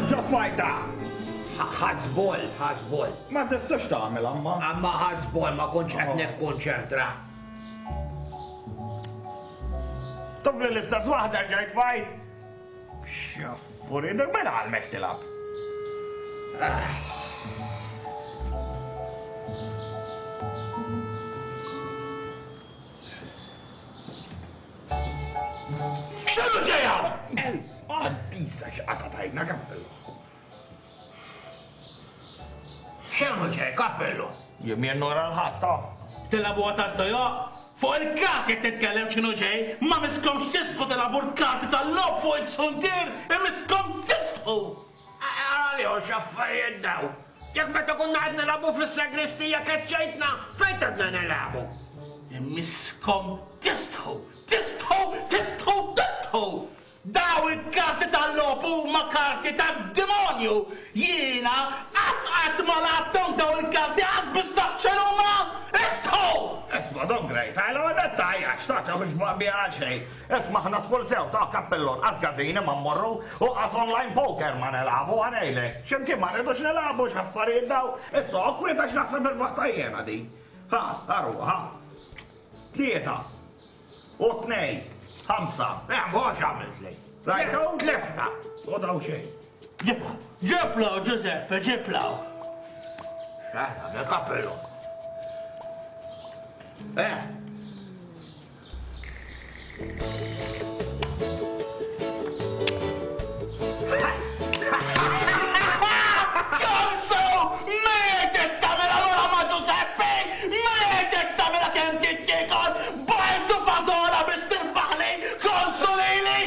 Erġa' tfajta! Ħadd żball, ħadd żball. Ma tistax tagħmel amma. Amma ħadd żball ma kontx qed nikkonċentra. Tobli l-istess waħda rġajt fajt. Xaffuri, dak mela għalmek tilab. X'inhu ġejja? Għaddisa x'qata tajna kappellu. X'inhu ġej kappellu? Jien jien nora l-ħadd ta. Tilagħbuha tad-dojoq? Fuq il-karti qed nitkellem x'inhu ġej, ma misskomx tistħu tilagħbu l-karti tal-logħob fuq it-suntier, imisskom tistħu! Għalihom x'affarijiet daw! Jekk meta konna qed nilagħbu fis-sagristija keċċejtna, fejn tridna nilagħbu? Imisskom tistħu! Tistħu! Tistħu! Tistħu! Daw il-karti tal-logħob huma karti tad-demonju! Jiena qas qatt ma lgħabthom daw il-karti qas biss naf x'inhuma! Istħu! Isma' Don Grey, tgħidlu għadha tgħajjatx, ta' tieħux biha għal xejn. Isma' aħna tful sew ta' kappellon, qas każini ma mmorru u qas online poker ma nilagħbu ħa ngħidlek. X'imkien ma rridux nilagħbu x'affarijiet daw. Issa oqgħod kwiet għax naħseb irbaħtha jiena din. Ha, aru, ha. Tlieta. U tnej. Ħamsa. Eh, mhux għamiltli. Rajtu? Tlifta. U daw xejn. Ġibla, ġibla, Giuseppe, ġibla. Eh, għamil kappellu. Eh, Konsu! Mietet tagħmel allura ma' Giuseppe! Mietet tagħmilha kemm tittiekol bajdu fażola biex tirbaħli konsu lili!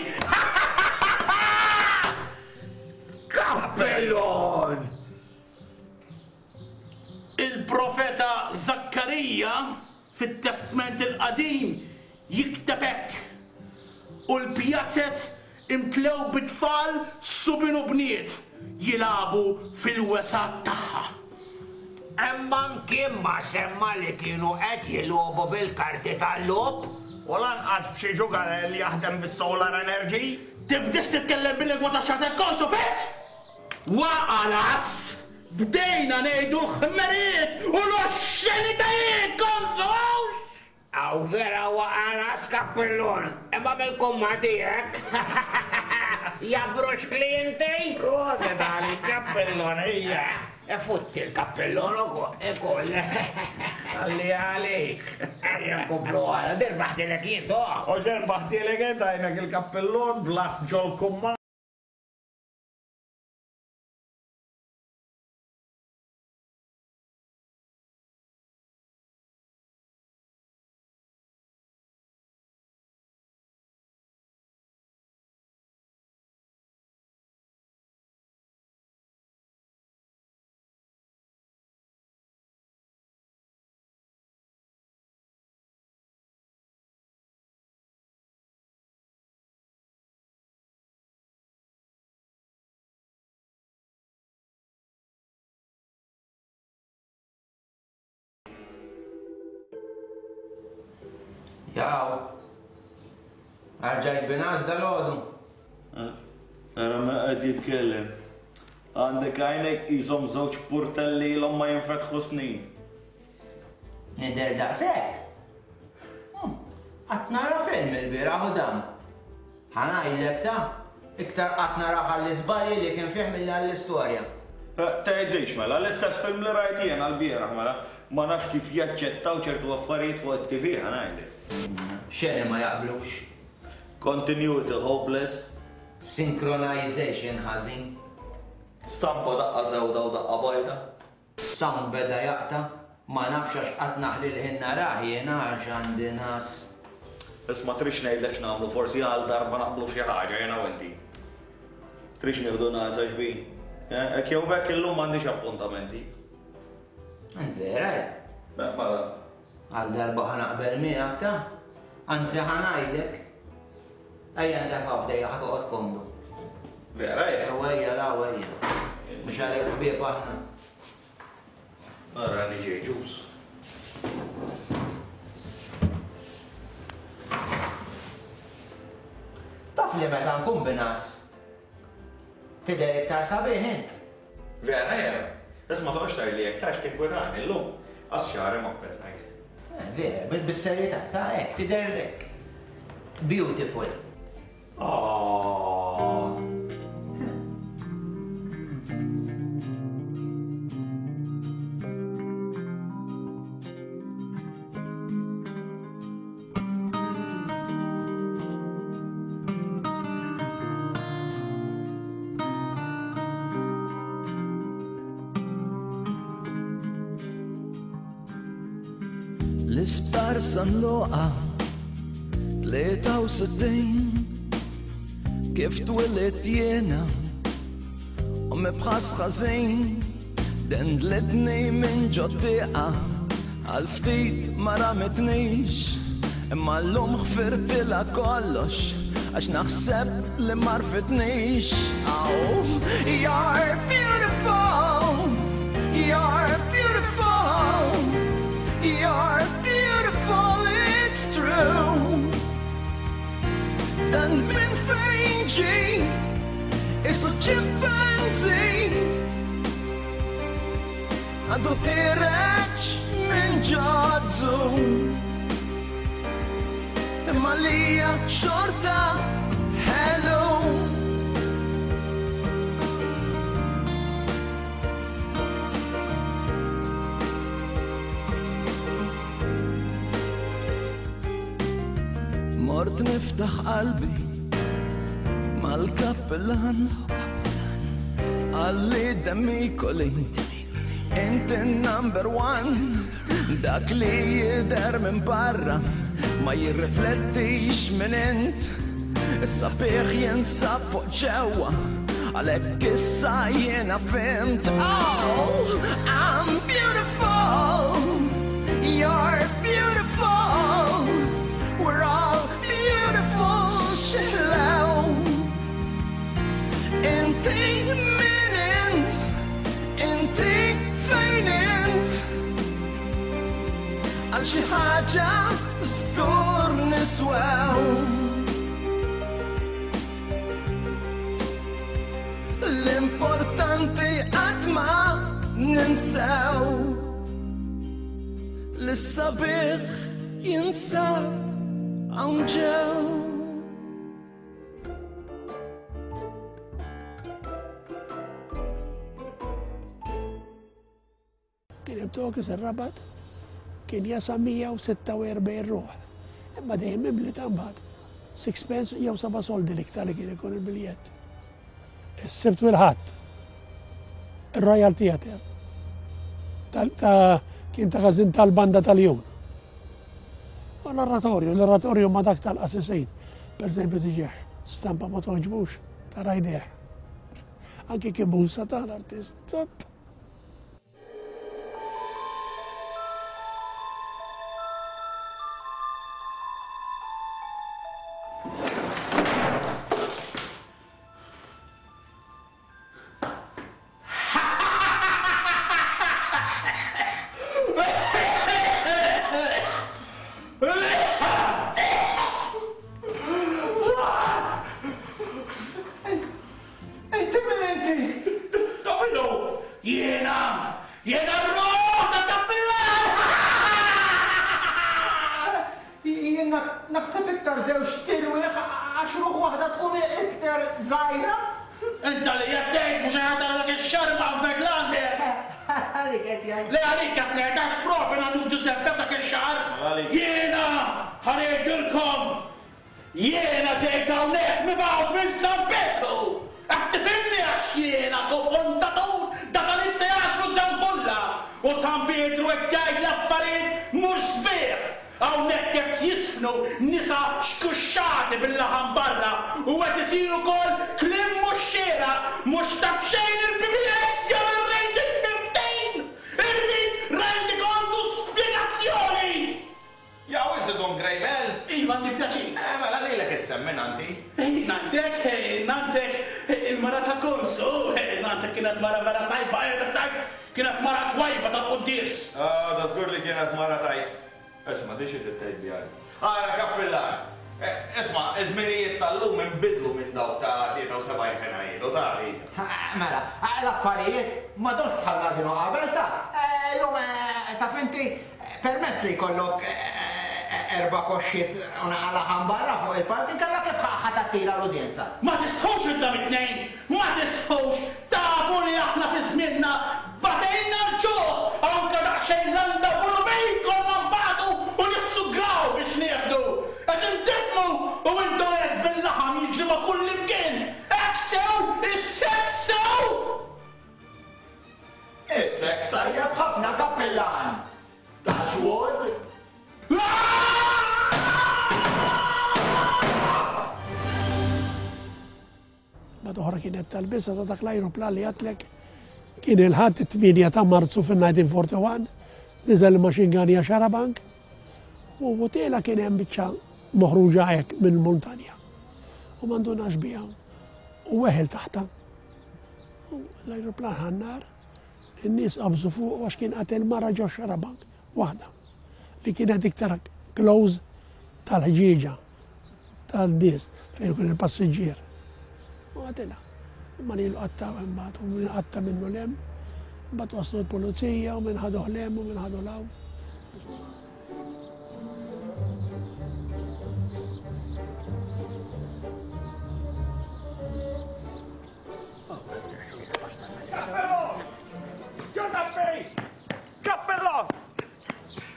Kappellon! Il-profeta Zakkarija Fit-Testment il-Qadim jikteb hekk, U l-pjazez imtlew bi tfal subien u bniet jilagħbu fil-wesgħat tagħha. Imma mkien ma semma li kienu qed jilogħbu bil-karti tal-logħob. U lanqas b'xi ġugarell jaħdem bis-solar energy. Tibdiex titkellem bil-lingwa tax-Charter Council, fhimt? Waqa' l-għażż! Bdejna ngħidu l-ħmerijiet u l-oxxenitajiet, konsu hawnx! Hawn vera waqa' ras kappellun, imma bil-kumma tiegħek. Jabrux klijenti? Proset għalik kappellun, ejja. Futti l-kappellun ukoll. Għalli għalik. Ejja nkomplu għala, dirbaħtilek jien to. U ġerbaħtilek int għajnek il-kappellun blas ġol-kumma. Jaw. Arġajt binas dal-ħodu. Ara ma qed jitkellem. Għandek għajnek qishom żewġ purtelli ilhom ma jinfetħu snin. Nidher daqshekk? Hmm, qatt nara film il-bieraħ u dam. Ħa ngħidlek ta, iktar qatt narah għall-iżbalji li kien fih milli għall-istorja. Tgħidlix mela, l-istess film li rajt jiena l-bieraħ mela, ma nafx kif jaċċettaw ċertu affarijiet fuq it-TV ħa ngħidlek. Xeni ma jaqblux. Continuity hopeless. Synchronization ħażin. Stampa daqqa sewda u daqqa bajda. Sound beda jaqta', ma nafx għax qatt naħli l-ħin narah jiena għax għandi ngħas. Isma' tridx ngħidlek x'nagħmlu forsi għal darba naqblu f'xi ħaġa jiena u inti. Tridx nieħdu ngħasa xbin? Eh, hekk jew b'hekk illum m'għandix appuntamenti. Int vera eh? Mela. Għal darba ħa naqbel miegħek ta' anzi ħa ngħidlek. Ejja ntefgħu ħdejja ħa toqgħod komdu. Vera ejja. Ewa ejja raw ejja. Mhux għalhekk ħbieb aħna. Ara li ġej ġus. Taf li meta nkun binas. Tidher iktar sabiħ int. Vera jew? Isma' toqgħodx tgħidli hekk tgħax tinkwetani llum. Qas xagħri ma ppetnajt. Eh, vera, bis-serjetà, ta' hekk tidher hekk. Beautiful. Aww. L-isptar San Luqa 63 Kif twilidt jiena u mibħas ħażin Dendlitni minn ġot-tieqa Għal ftit ma ramitnix Imma llum ħfirtilha kollox Għax naħseb li m'għarfitnix Oh, you're beautiful You're beautiful You're beautiful, it's true Dan minn fejn ġie Isu chimpanzee Għandu ħireġ minn ġazzu Imma lija xorta ħelu Mort niftaħ qalbi mal-kappellan Qalli Demicoli Inti number one Dak li jidher minn barra Ma jirriflettix minn int Is-sabiħ jinsab fuq ġewwa Għalhekk issa jiena fhimt Oh, I'm beautiful You're beautiful We're all beautiful X'ħlew Inti min int Inti fejn int Għal xi ħaġa żgur niswew L-importanti qatt ma ninsew Li s-sabiħ jinsab hawn ġew. Kien hemm Tokis ir-Rabat kien jasa 146 ruħ. Imma dejjem mimli ta' mbagħad. Sixpence jew seba' soldi l-iktar li kien ikun il-biljett. Is-Sibt u l-Ħadd. Ir-Royal Theatre. Kien ta' każin tal-banda tal-Jun. U l-oratorju, l-oratorju ma dak tal-qasisin. Per eżempju tiġih stampa ma toġbux, tara jdejh. Anki kien musa tal-artist. Inti min inti? Dominu! Jiena! Jiena r-ruħ ta' Kappillan! Jien naħseb iktar żewġ tirwieħ għax ruħ waħda tkun iktar żgħira. Inta li qed tgħid mhux qed dak ix-xahar imqanfed l-għandek. Għalik qed jgħid. Le għalik qed ngħid għax proprju nannu Ġużeppe dak ix-xahar. Jiena ħa ngħidilkom jiena ġejt hawnhekk mibgħut minn San Pietru. Qed tifhimni għax jiena kofondatur ta' dan it-teatru Zambulla u San Pietru qed jgħid l-affarijiet mhux sbieħ. Hawnhekk qed jiżfnu nisa xkuxxati bil-laħam barra u qed isir ukoll kliem mhux xieraq, mhux ta' b'xejn il-PBS jagħmel rating 15! Irrid rendikont u spjegazzjoni! Jaw inti Dun Grejbel? Iva għandi pjaċir. Eh mela lilek issemmi nannti. Nanntek, nanntek, il-mara ta' Konsu, nanntek kienet mara vera tajba, kienet mara twajba tal-quddies. Ah, da żgur li kienet mara tajba. Isma' di xi trid tgħid biha int? Ara kappillan! Isma', iż-żminijiet tal-lum inbidlu minn dawk ta' 73 sena ilu, ta' hija. Mela, l-affarijiet m'għadhomx bħalma kienu qabel, ta'. Illum, taf inti, permess li jkollok erba' koxxiet u naqa' laħam barra fuq il-palk, inkella kif ħa tattira l-udjenza? Ma tistħux intom it-tnejn! Ma tistħux! Tafu li aħna fi żmienna batejna l-ġuħ, anke daqsxejn landa u pulubejn konna nbatu u nissugraw biex nieħdu. Qegħdin tifhmu u intom hekk bil-laħam jiġri ma' kullimkien! Hekk sew! Is-seks sew! Is-seks tajjeb ħafna, Kappillan! Touch wood! Mbagħad oħra kienet tal-biża' ta' dak l-ajruplan li għedtlek kien il-Ħadd it-8 ta' Marzu fin-1941, niżel il-machine gun hija xarabank u wutela kien hemm biċċa moħruġa hekk mill-muntanja. U ma ndunax biha u weħel taħta. U l-ajruplan ħannar, in-nies qabżu fuq għax kien qatel mara ġo xarabank waħda li kienet iktar close tal-ħġieġa. tan-nies fejn ikun il-passiġġier. U għatilha. Imma lilu qatta' imbagħad u min qatta' minnu 'l hemm. Imbagħad waslu l-pulizija u min ħaduh 'l hemm u min ħadu 'l hawn. Giuseppe! Cappello!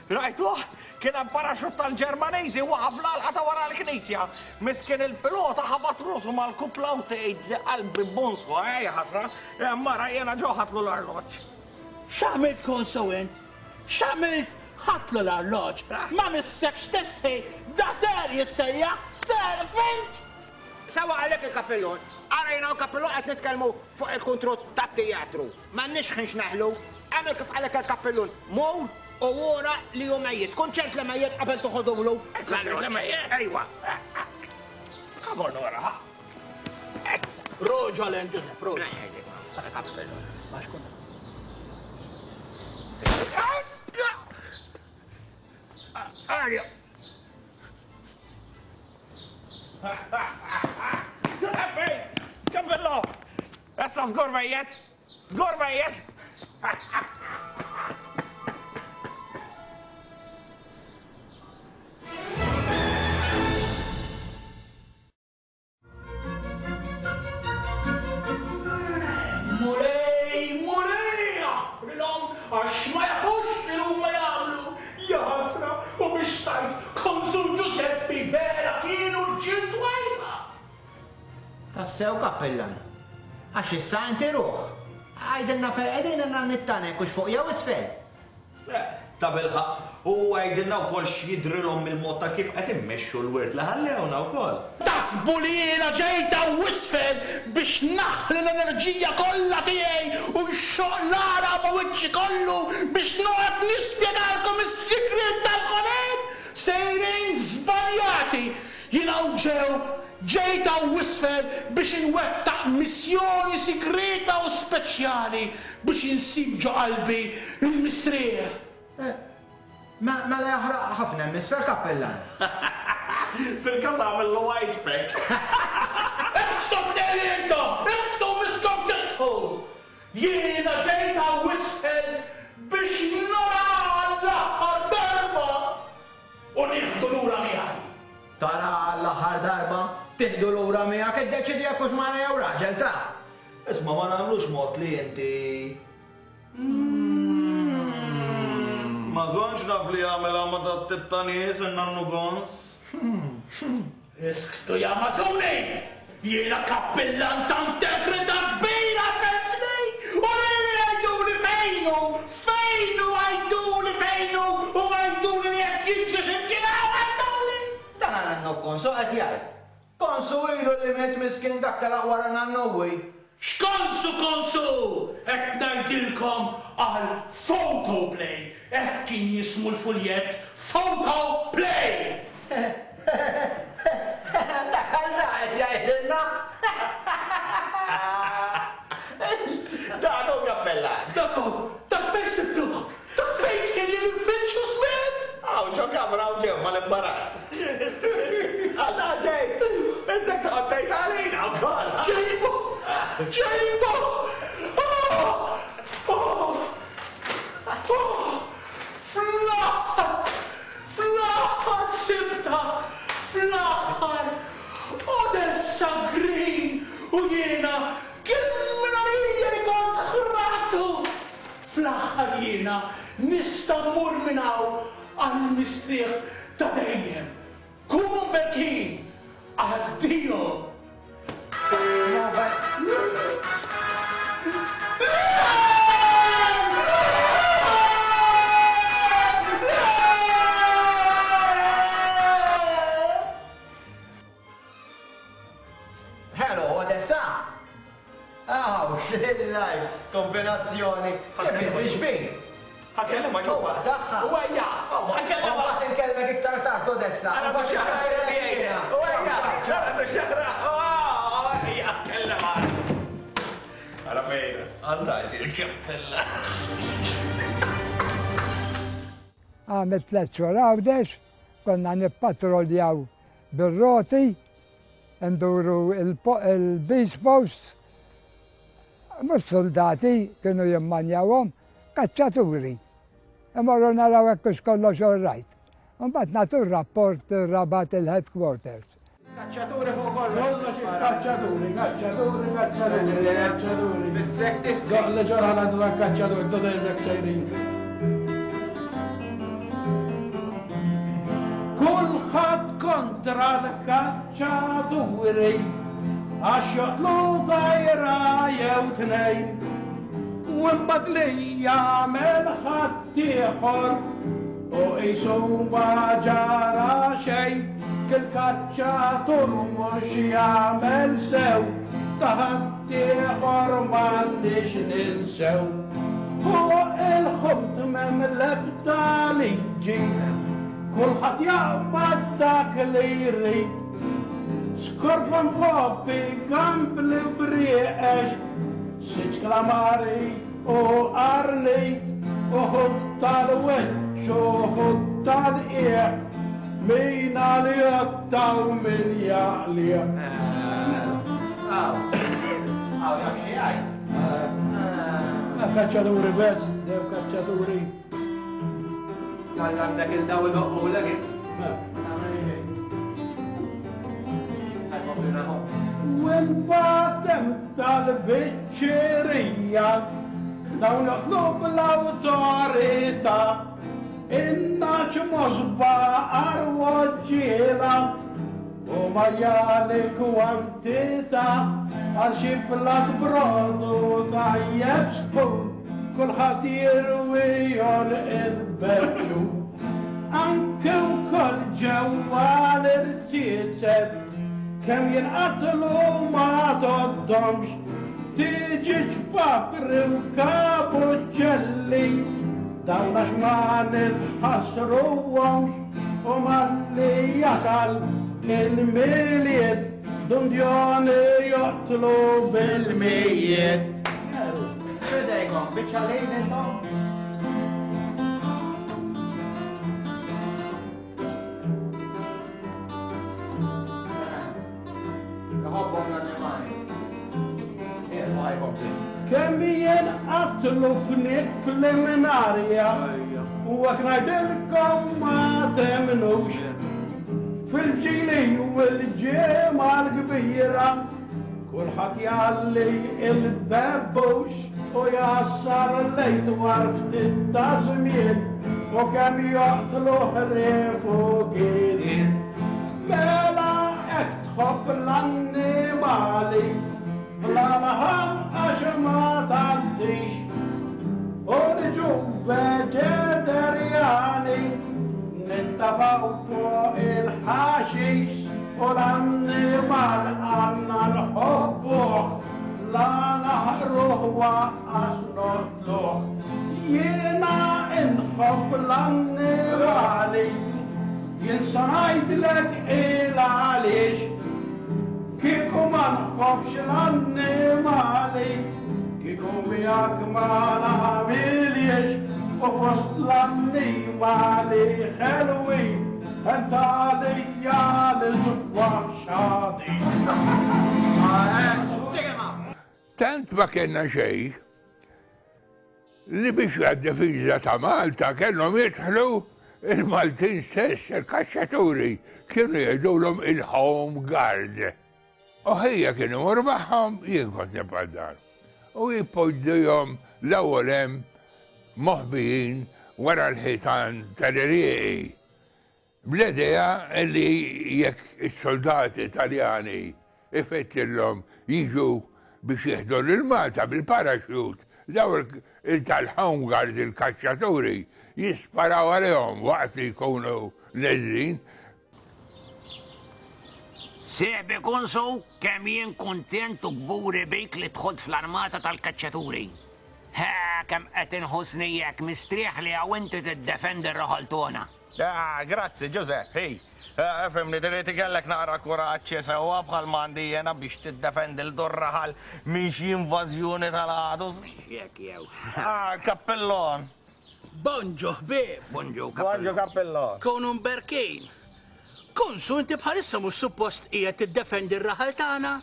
Rajtuh? Kien hemm paraxut tal-Ġermaniżi waqa' fl-għalqa ta' wara l-knisja. Miskin il-pilota ħabat rusu mal-kupla u tgħid li qalbi bonswa, eh, ħasra. Mara jiena ġo ħadtlu l-arloġġ. X'għamilt Konsu int? X'għamilt ħadtlu l-arloġġ? Ma missekx tistħi, da ser jissejjaħ ser fint! Sewwa qalek il-kappillun. Ara jiena u l-kappillun qed nitkellmu fuq il-kuntrott tat-tijatru. M'għandniex ħin x'naħlu. Agħmel kif qalek il-kappillun. Mur u ura li hu mejjet. Kun ċert li mejjet qabel toħodulu. Kun ċert li mejjet? Ejwa. Come on, ora, ha. Roġa len, Giuseppe, roġa. Kappillun. Ma xkun. Arja. Giuseppe! Cappello! Issa żgur mejjet! Żgur mejjet! Mulej, Mulej, aħfrilhom għax ma jafux x'inhuma jagħmlu. Jaħasra, u biex tgħid, Konsu Ġuseppi vera kienu rġiel twajba! Tassew kappillan. Għax issa inti ruħ. Għidilna fejn qegħdin għandna nittanek hux fuq jew isfel. Tabilħaqq, u għidilna wkoll x'jidhrilhom mill-mod ta' kif qed immexxu l-wirt li ħallewna wkoll. Taħsbu li jiena ġejt hawn isfel biex naħli l-enerġija kollha tiegħi u nxoqq l-għaraq ma' wiċċi kollu biex noqgħod nispjegalkom is-sigriet tal-ħolqien? Sejrin żbaljati! Jien hawn ġew ġejt hawn isfel biex inwettaq missjoni sigrieta u speċjali Biex insib ġo qalbi l-mistrieħ. Mela jaħraq ħafna hemm isfel kappillan. Fil-każ agħmillu ice pack. Iħssu tnejn intom! Iħssu miskom tistħu! Jiena ġejt hawn isfel biex nara għall-aħħar darba u nieħdu lura miegħi. Tara għall-aħħar darba, tieħdu lura miegħek iddeċiedi jekk hux mara jew raġel, sa! Isma' ma nagħmlux mod li inti. Ma kontx naf li jagħmilha ma' dat-tip ta' nies in-nannu Gons. Isktu ja mażuni! Jiena kappillan ta' integrità kbira fhimtni! U lili għiduli fejn hu! Fejn hu għiduli fejn hu u għiduli li jekk jiġri xi mkien hawn għiduli! Dan għal-nannu Gonzo qed jgħid. Konsu ilu li miet miskin dak telaq wara nannuwi. X'konsu konsu! Qed ngħidilkom għal photoplay! Hekk kien jismu l-fuljett, photoplay! Dak għal da qed jgħidilna! Dan hu kappellan! Dak hu! Dak fejn sibtuh! Dak fejn kien ili nfittxu żmien! Hawn ġo kamra hawn ġew mal-imbarazz. Għal. Ġejba! Oh! Oh! Oh! Fl-aħħar! Fl-aħħar sibtha! Fl-aħħar! Odessa Green u jiena kemm għalija li kont ħraqtu! Fl-aħħar jiena nista' mmur minn hawn għall-mistrieħ ta' dejjem. Kunu mberkin! Addio! Hello, Odessa! Aw, xil-lives, kombinazzjoni. Kif inti xbin? Ħakellem ma ġo. Tagħha. Wejja! Ħakellem ma. Mbagħad inkellmek iktar tard Odessa. Ara xahra Wejja! Ara xahra! Ejja, kellem Ara fejn, għandha il-kappella. Għamil tlet xhur Għawdex, konna nippatroljaw bir-roti, nduru il-beach posts, mhux soldati kienu jimmanjawhom, kaċċaturi. Imorru naraw hekk hux kollox all right. Imbagħad nagħtu r-rapport Rabat il-headquarters. Kaċċaturi fuq kollox. Kollox kaċċaturi, kaċċaturi, kaċċaturi, kaċċaturi. Bissek tistri. Doqli ġorħa għandu dan kaċċaturi, dodejlek sejrin. Kulħadd kontra l-kaċċaturi għax joqtlu dajra jew tnejn. U imbagħad li jagħmel ħaddieħor u qisu ma ġara xejn kil kaċċatur mhux jagħmel sew ta' ħaddieħor m'għandix ninsew. Fuq il-ħut m'hemm l-ebda liġi, kulħadd jaqbad dak li jrid. Skorpan poppi, gambli u brieqex, siġ klamari u qarni, u ħut tal-wiċċ u ħut tal-qiegħ, min għal-jotta u min jaqlieh. Aw, aw, jaf xi jgħid. Kaċċaturi bes, dew kaċċaturi. Għal għandek il-daw idoqqu l U imbagħad hemm tal-biċċerija dawn joqtlu bl-awtorità. In-naċ mosba arwoġġiela u majjali kwantità għal xi plat brodu tajjeb sħun kulħadd jirwi il-beċċu. Anke wkoll ġewwa l-irtiezet kemm jinqatlu ma tgħoddhomx tiġi ċpapri u kapuċċelli dawn għax ma nitħassruhomx u malli jasal il-milied dundjoni joqtlu bil-mijiet. Fidejkom, biċċa lejn intom? Iħobbhom l-annimali. Ieqfu ħajkompli. Kemm jenqatlu fniek fl-Eminarja u hekk ngħidilkom ma temnux. Fil-ġili u l-ġimgħa l-kbira kulħadd jalli il-bebbux u jassar lejt war ftit ta' żmien u kemm joqtlu ħrief u giel. Mela hekk tħobb l-annimali bla laħam għax ma tgħaddix. U niġu veġetarjani nittafaw fuq il-ħaxix u l-annimal għandna nħobbuh la naħruh waqqas noqtluh. Jiena inħobb l-annimali, jien sa ngħidlek il għaliex. Kieku ma nħobbx l-annimali, kieku miegħek ma nagħmiliex u fost l-annimali ħelwi ent għalija l-isbaħ xadi. Tant ma kellna xejn li biex għad-difiża ta' Malta kellhom jidħlu il-Maltin stess, il-kaċċaturi, kienu jgħidulhom il-Home Guard. U ħija kien imur magħhom, jien kont nibqa' d-dar. U jpoġġuhom l-ewwel hemm moħbijin wara l-ħitan tal-irieqi. Bl-idea li jekk is-soldati Taljani ifettillhom jiġu biex jieħdu lil Malta bil-parachute, daw il-tal-Home Guard il-kaċċaturi jisparaw għalihom waqt li jkunu neżlin. Sieħbi Kunsu, kemm jien kuntent u kburi bik li dħolt fl-armata tal-kaċċaturi. Ħa, kemm qed inħossni hekk mistrieħ li hawn inti tiddefendi r-raħal togħna. Ah, grazzi, Giuseppe, hi. Eh, fimni, trid ikellek naqra kuraġġ sewwa bħal m'għandi jiena biex tiddefendi l raħal minn xi invażjoni tal-għadu. Jekk jew. Ah, kappellon. Bonġu ħbieb. Bonġu kappellon. Bonġu kappellon. Kunu mberkin. Konsu inti bħalissa mhux suppost qiegħed tiddefendi r-raħal tagħna?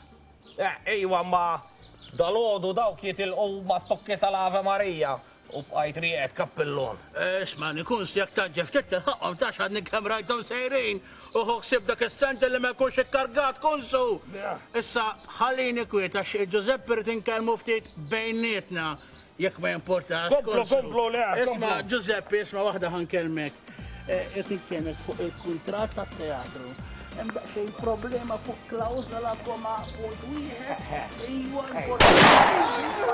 Eh, ejwa ma dalodu dawk jitilqu mat-tokki tal-Ave Marija u bqajt rieqed kappellon. Isma' nikun jekk taġġef ftit tilħaqhom tax għadni kemm rajthom sejrin u ħu ħsieb dak is-sent li ma jkunx ikkargat konsu. Issa ħallini kwiet għax Ġużeppi rrid inkellmu ftit bejnietna jekk ma jimportax. Komplu, komplu, le, Isma' Ġużeppi, isma' waħda ħankellmek. Qed nitkellmek fuq il-kuntratt tat-teatru. Hemm daqsxejn problema fuq klawżola koma punt wieħed. Iwa importanti.